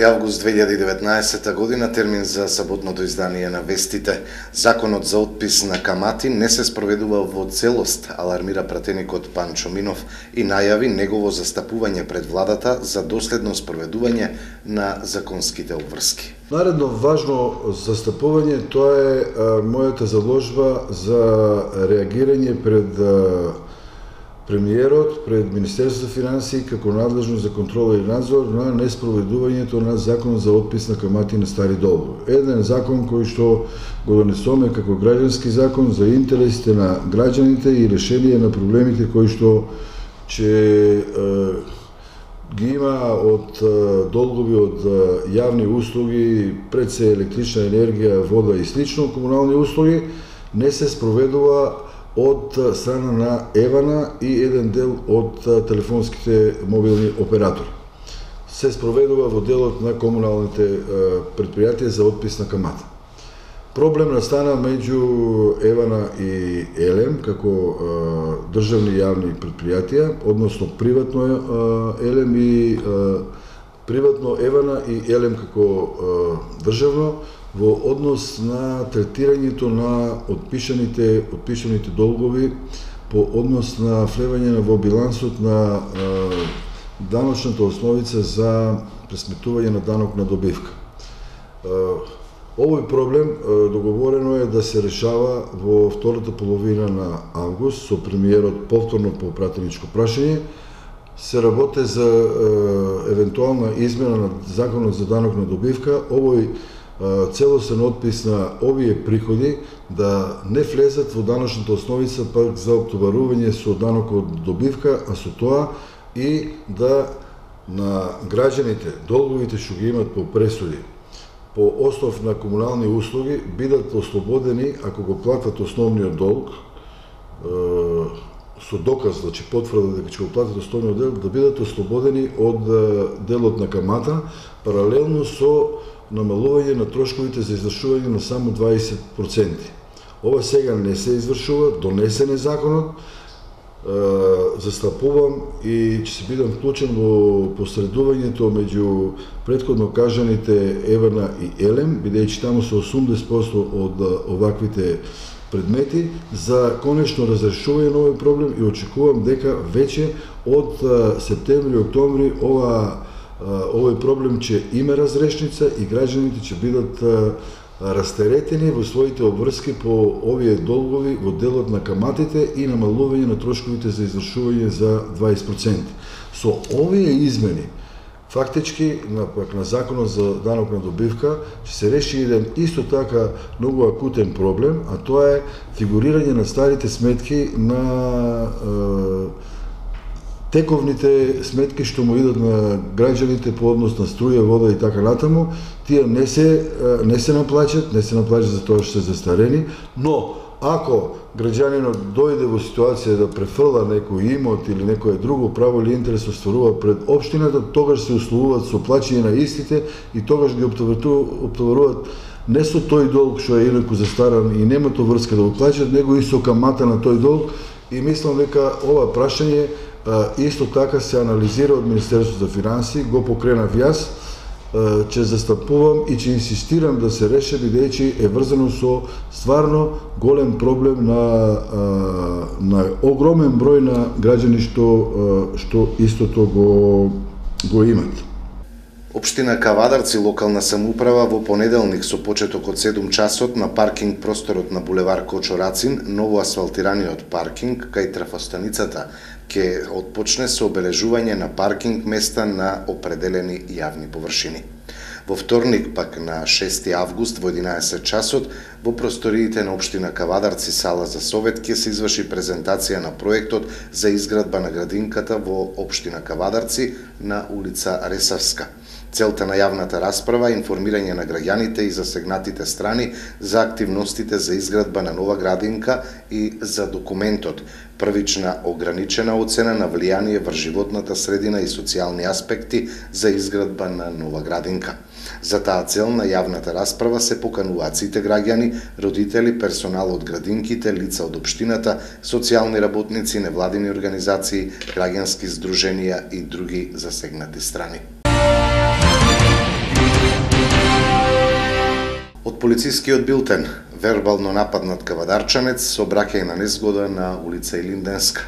Август 2019 година, термин за саботното издание на вестите. Законот за отпис на камати не се спроведува во целост, алармира пратеникот Панчо Минов и најави негово застапување пред владата за доследно спроведување на законските обврски. Наредно важно застапување тоа е мојата заложба за реагирање пред премиерот, пред Министерството за финансии како надлежно за контрола и надзор на неспроведувањето на законот за отпис на камати на стари долгови. Еден закон кој што го донесоме како граѓански закон за интересите на граѓаните и решение на проблемите кои што ги има од долгови од јавни услуги, пред се електрична енергија, вода и слично, комунални услуги, не се спроведува од страна на ЕВАНА и еден дел од телефонските мобилни оператори. Се спроведува во делот на комуналните предпријатија за отпис на камата. Проблем настана меѓу ЕВАНА и ЕЛЕМ како државни јавни предпријатија, односно приватно ЕЛЕМ и приватно ЕВАНА и ЕЛЕМ како државно, во однос на третирањето на отпишаните долгови по однос на влевање во билансот на даночната основица за пресметување на данок на добивка. Овој проблем договорено е да се решава во втората половина на август со премиерот повторно по пратеничко прашање. Се работи за евентуална измена на законот за данок на добивка. Овој целосен отпис на овие приходи да не влезат во даночната основица пак за оптоварување со данок од добивка, а со тоа и да на граѓаните долговите што ги имат по пресуди по основ на комунални услуги бидат ослободени ако го платат основниот долг со доказ, значи потврда дека ќе го платат основниот дел, да бидат ослободени од делот на камата, паралелно со намалување на трошковите за извршување на само 20%. Ова сега не се извршува, донесен е законот, застапувам и ќе се бидам вклучен во посредувањето меѓу претходно кажаните ЕВАНА и ЕЛЕМ, бидејќи таму се 80% од оваквите предмети за конечно разрешување на овој проблем и очекувам дека веќе од септември-октомври овој проблем ќе има разрешница и граѓаните ќе бидат растеретени во своите обврски по овие долгови во делот на каматите и намалување на трошковите за извршување за 20%. Со овие измени, фактички, на законот за данок на добивка, ќе се реши еден исто така многу акутен проблем, а тоа е фигурирање на старите сметки на тековните сметки што му идат на граѓаните по однос на струја, вода и така натаму, тие не се наплаќат за тоа што се застарени, но ако граѓанинот дојде во ситуација да префрла некој имот или некое друго право или интерес остварува пред општината, тогаш се условуваат со плаќање на истите и тогаш ги оптоваруваат не со тој долг што е инаку застаран и нема тоа врска да го плаќат, него и со камата на тој долг, и мислам дека ова прашање исто така се анализира од Министерството за финансии, го покренав јас, ќе застапувам и ќе инсистирам да се реше, бидејќи е врзано со стварно голем проблем на огромен број на граѓани што истото го имат. Општина Кавадарци, локална самоуправа, во понеделник со почеток од 7 часот на паркинг просторот на булевар Кочо Рацин, ново асфалтираниот паркинг кај трафостаницата ќе отпочне со обележување на паркинг места на определени јавни површини. Во вторник, пак на 6 август во 11 часот, во просториите на општина Кавадарци сала за совет ќе се изврши презентација на проектот за изградба на градинката во општина Кавадарци на улица Ресавска. Целта на јавната расправа е информирање на граѓаните и засегнатите страни за активностите за изградба на нова градинка и за документот, првична ограничена оцена на влијание врз животната средина и социјални аспекти за изградба на нова градинка. За таа цел на јавната расправа се покануваат сите граѓани, родители, персонал од градинките, лица од општината, социјални работници, невладини организации, граѓански здруженија и други засегнати страни. Од полицискиот билтен, вербално нападнат кавадарчанец со обраќајна незгода на улица Илинденска.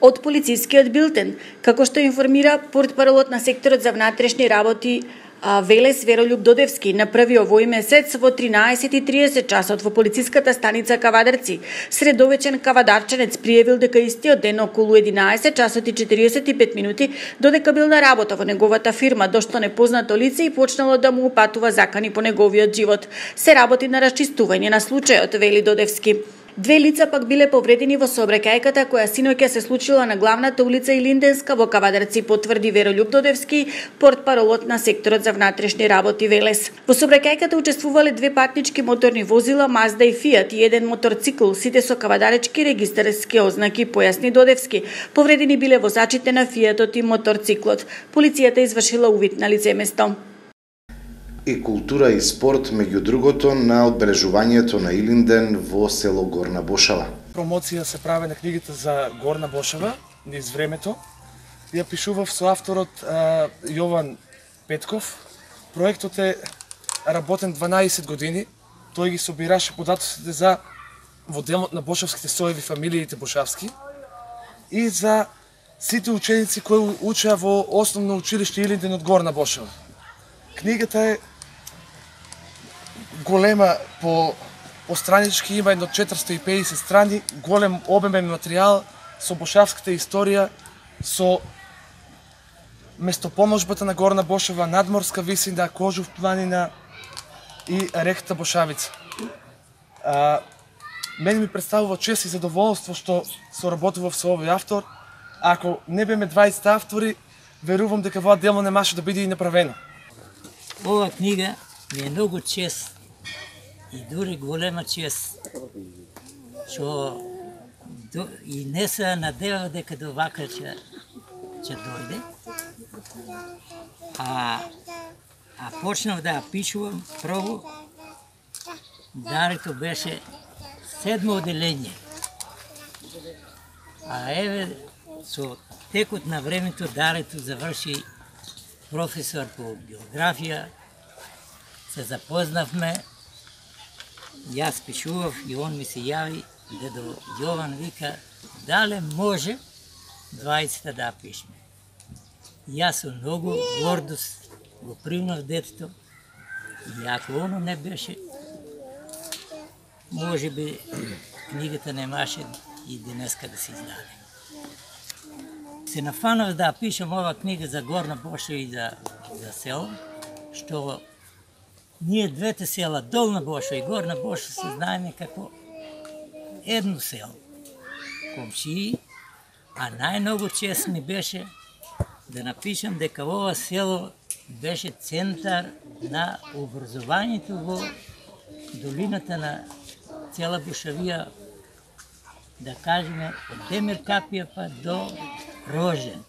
Од полицискиот билтен, како што информира портпаролот на секторот за внатрешни работи Велес Веролјуб Додевски, на 1 овој месец во 13:30 часот во полициската станица Кавадарци, средовечен кавадарчанец пријавил дека истиот ден околу 11 часот и 45 минути додека бил на работа во неговата фирма, дошто непознато лице и почнало да му упатува закани по неговиот живот. Се работи на расчистување на случајот, вели Додевски. Две лица пак биле повредени во сообраќајката која синоќа се случила на главната улица Илинденска во Кавадарци, потврди Веролјуб Додевски, портпаролот на секторот за внатрешни работи Велес. Во сообраќајката учествувале две патнички моторни возила, Мазда и Фијат, и еден моторцикл, сите со кавадаречки регистарски ознаки, појасни Додевски. Повредени биле возачите на Фијатот и моторциклот. Полицијата извршила увид на лицеместо. И култура и спорт, меѓу другото, на одбележувањето на Илинден во село Горна Бошава. Промоција се прави на книгата за Горна Бошава низ времето. Ја пишував со авторот Јован Петков. Проектот е работен 12 години. Тој ги собираше податоците за во делот на бошавските соеви, фамилиите бошавски и за сите ученици кои учеа во основно училиште Илинден од Горна Бошава. Книгата е голема по странички, има едно 450 страни, голем обемен материјал со бошавската историја, со местопоможбата на Горна Бошава, надморска висина, Кожув планина и реката Бошавица. Мене ми представува чест и задоволство што соработував со овој автор. Ако не беме 20 автори, верувам дека ова дело не може да биде и направено. Ова книга ми е многу чест и дури голема чест, што и не се надевав дека до вака ќе дојде. А почнав да пишувам прво, дарето беше 7 оделење. А еве, со текот на времето дарето заврши професор по географија, се запознавме, јас пишував и он ми се јави, дедо Јован вика, дале може 20 да пишме. Јас со многу гордост го примав детето и ако оно не беше, може би книгата немаше и денеска да се издаде. Се нафанав да пишам ова книга за Горна Бошава и за село, што ние двете села, Долна Бошава и Горна Бошава, се знаеме како едно село, комшии, а најмногу чест ми беше да напишам дека ова село беше центар на образованието во долината на цела Бошавија, да кажеме, од Демир Капија па до Рожен.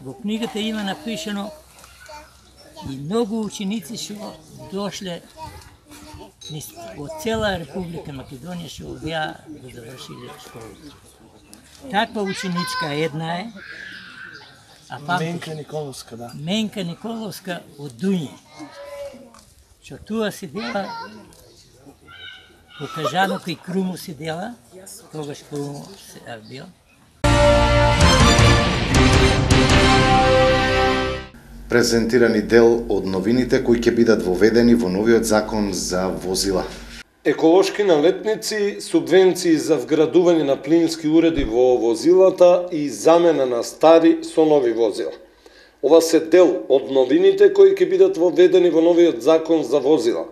Во книгата има напишано и многу ученици што дошле од цела Република Македонија што беа да завршиле школата. Таква ученичка една е, Менка Николовска, да. Менка Николовска од Дуње, што туа седела, по Кажано кај Круму седела, тогаш Круму се бил. Презентирани дел од новините кои ќе бидат воведени во новиот закон за возила. Еколошки налетници, субвенции за вградување на плински уреди во возилата и замена на стари со нови возила. Ова се дел од новините кои ќе бидат воведени во новиот закон за возила.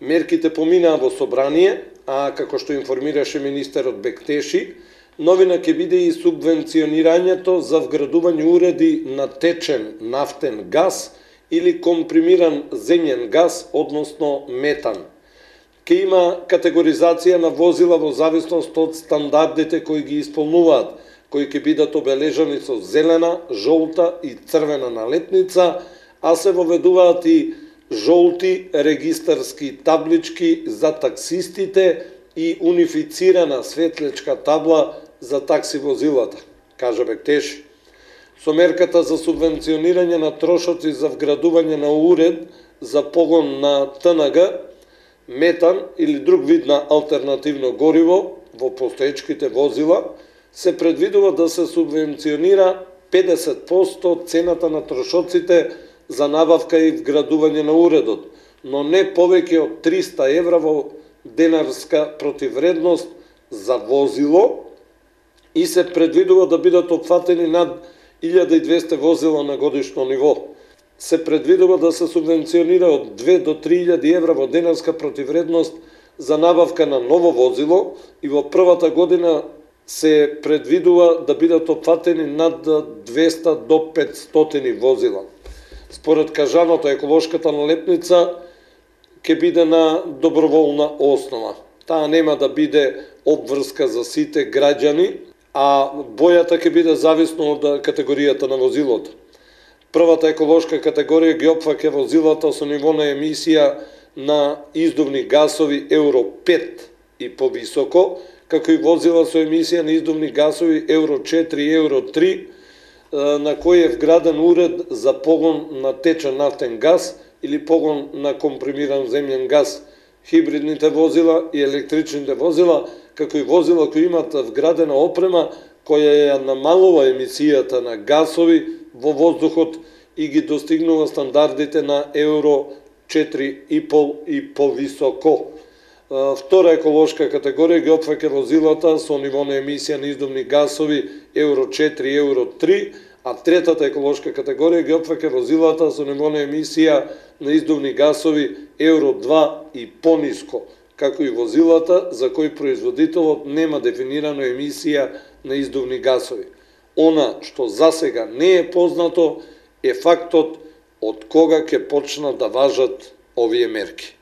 Мерките поминаа во собрание, а како што информираше министерот Бектеши, новина ќе биде и субвенционирањето за вградување уреди на течен нафтен газ или компримиран земјен газ, односно метан. Ке има категоризација на возила во зависност од стандардите кои ги исполнуваат, кои ќе бидат обележани со зелена, жолта и црвена налетница, а се воведуваат и жолти регистарски таблички за таксистите и унифицирана светлечка табла за такси возилата, кажа Бектеши. Со мерката за субвенционирање на трошоци за вградување на уред за погон на ТНГ, метан или друг вид на алтернативно гориво во постоечките возила, се предвидува да се субвенционира 50% цената на трошоците за набавка и вградување на уредот, но не повеќе од 300 евра во денарска противвредност за возило и се предвидува да бидат опфатени над 1200 возила на годишно ниво. Се предвидува да се субвенционира од 2 до 3000 евра во денарска противвредност за набавка на ново возило и во првата година се предвидува да бидат опфатени над 200 до 500 возила. Според кажаното, еколошката налепница ќе биде на доброволна основа. Таа нема да биде обврска за сите граѓани, а бојата ќе биде зависно од категоријата на возилото. Првата еколошка категорија ги опфаќа возилата со ниво на емисија на издувни гасови Евро 5 и повисоко, како и возила со емисија на издувни гасови Евро 4 и Евро 3, на кој е вграден уред за погон на течен нафтен газ или погон на компримиран земјен газ, хибридните возила и електричните возила, како и возила кои имат вградена опрема која ја намалува емисијата на гасови во воздухот и ги достигнува стандардите на Евро 4,5 и повисоко. Втора еколошка категорија ги опфаќа возилата со ниво на емисија на издувни гасови Евро 4 и Евро 3, а третата еколошка категорија ги опфаќа возилата со ниво на емисија на издувни гасови Евро 2 и пониско, како и возилата за кои производителот нема дефинирано емисија на издувни гасови. Она што засега не е познато е фактот од кога ќе почнат да важат овие мерки.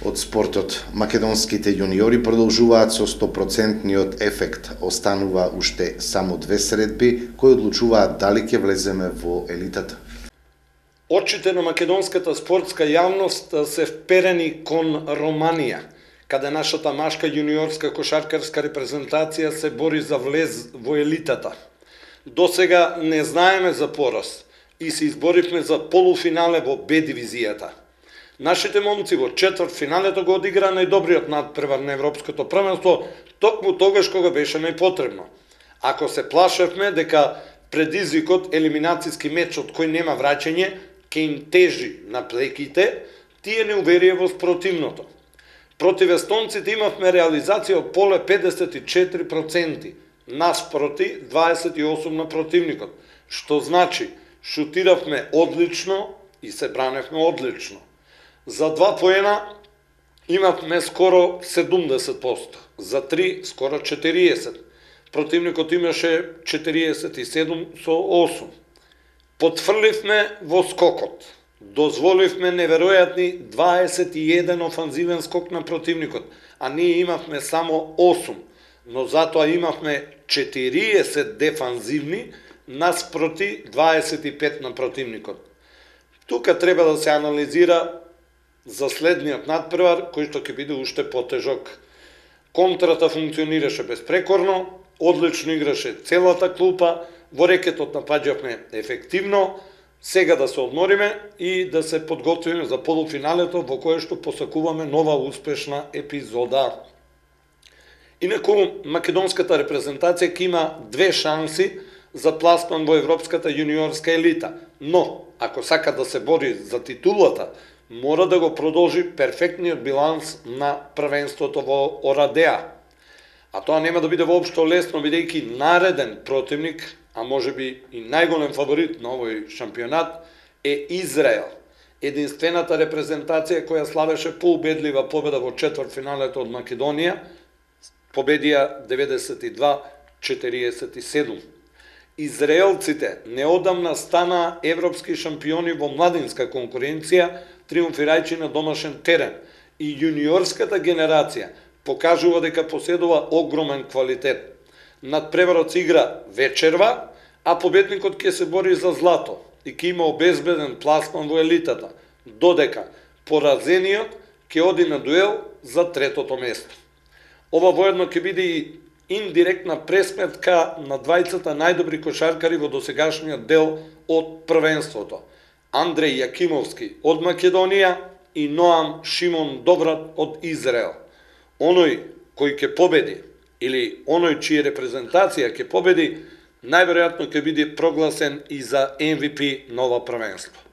Од спортот, македонските јуниори продолжуваат со 100% ефект. Останува уште само 2 средби кои одлучуваат дали ќе влеземе во елитата. Очите на македонската спортска јавност се вперени кон Романија, каде нашата машка јуниорска кошаркарска репрезентација се бори за влез во елитата. Досега не знаеме за пораз и се изборивме за полуфинале во Б дивизијата. Нашите момци во четвртфиналето го одигра најдобриот надпревар на европското првенство, токму тогаш кога беше најпотребно. Ако се плашевме дека предизвикот елиминацијски меч од кој нема враќање ќе им тежи на плеките, тие не уверија во спротивното. Против естонците имавме реализација од поле 54%, наспроти 28% на противникот, што значи шутиравме одлично и се браневме одлично. За 2 поена имавме скоро 70%, за 3 скоро 40%. Противникот имаше 47 со 8. Потфрливме во скокот. Дозволивме неверојатни 21 офанзивен скок на противникот, а ние имавме само 8, но затоа имавме 40 дефанзивни наспроти 25 на противникот. Тука треба да се анализира за следниот надпревар, кој што ќе биде уште потежок. Контрата функционираше безпрекорно, одлично играше целата клупа, во рекетот напаѓавме ефективно, сега да се одмориме и да се подготвиме за полуфиналето во кое што посакуваме нова успешна епизода. Инаку, македонската репрезентација ќе има 2 шанси за пласман во европската јуниорска елита, но ако сака да се бори за титулата, мора да го продолжи перфектниот биланс на првенството во Орадеа. А тоа нема да биде воопшто лесно, бидејќи нареден противник, а може би и најголем фаворит на овој шампионат, е Израел. Единствената репрезентација која славеше поубедлива победа во четвртфиналето од Македонија, победија 92-47. Израелците неодамна стана европски шампиони во младинска конкуренција, триумфирајќи на домашен терен, и јуниорската генерација покажува дека поседува огромен квалитет. Надпреварот се игра вечерва, а победникот ќе се бори за злато и ќе има обезбеден пласман во елитата, додека поразениот ќе оди на дуел за третото место. Ова воедно ќе биде и индиректна пресметка на двајцата најдобри кошаркари во досегашниот дел од првенството. Андреј Јакимовски од Македонија и Ноам Шимон Добрат од Израел. Оној кој ќе победи или оној чија репрезентација ќе победи, најверојатно ќе биде прогласен и за MVP на ова првенство.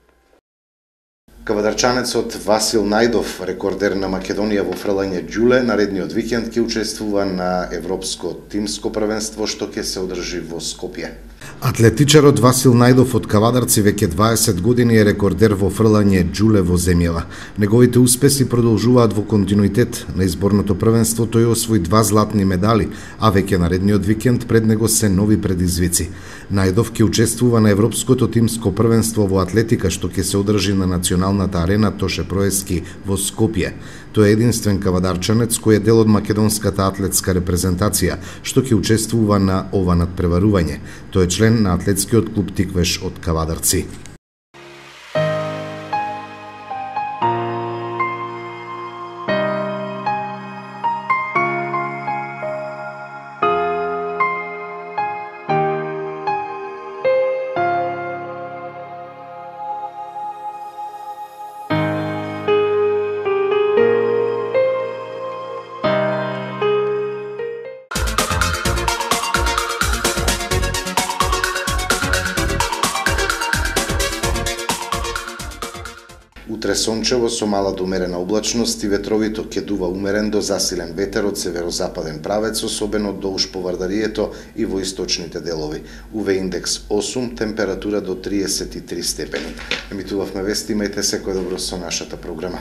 Кавадарчанецот Васил Најдов, рекордер на Македонија во фрлање џуле, наредниот викенд ќе учествува на Европско тимско првенство што ќе се одржи во Скопје. Атлетичарот Васил Најдов од Кавадарци веќе 20 години е рекордер во фрлање џуле во земјава. Неговите успеси продолжуваат во континуитет. На изборното првенство тој освои 2 златни медали, а веќе наредниот викенд пред него се нови предизвици. Најдов ќе учествува на Европското тимско првенство во атлетика што ќе се одржи на националната арена Тоше Проески во Скопје. Тој е единствен кавадарчанец кој е дел од македонската атлетска репрезентација што ќе учествува на ова надпреварување. Тој е член на атлетскиот клуб Тиквеш од Кавадарци. Утре сончево со мала до умерена облачност и ветровито ќе дува умерен до засилен ветер од северозападен правец, особено долж по Вардарието и во источните делови. УВ индекс 8, температура до 33 степени. Емитувавме вести, имајте секој добро со нашата програма.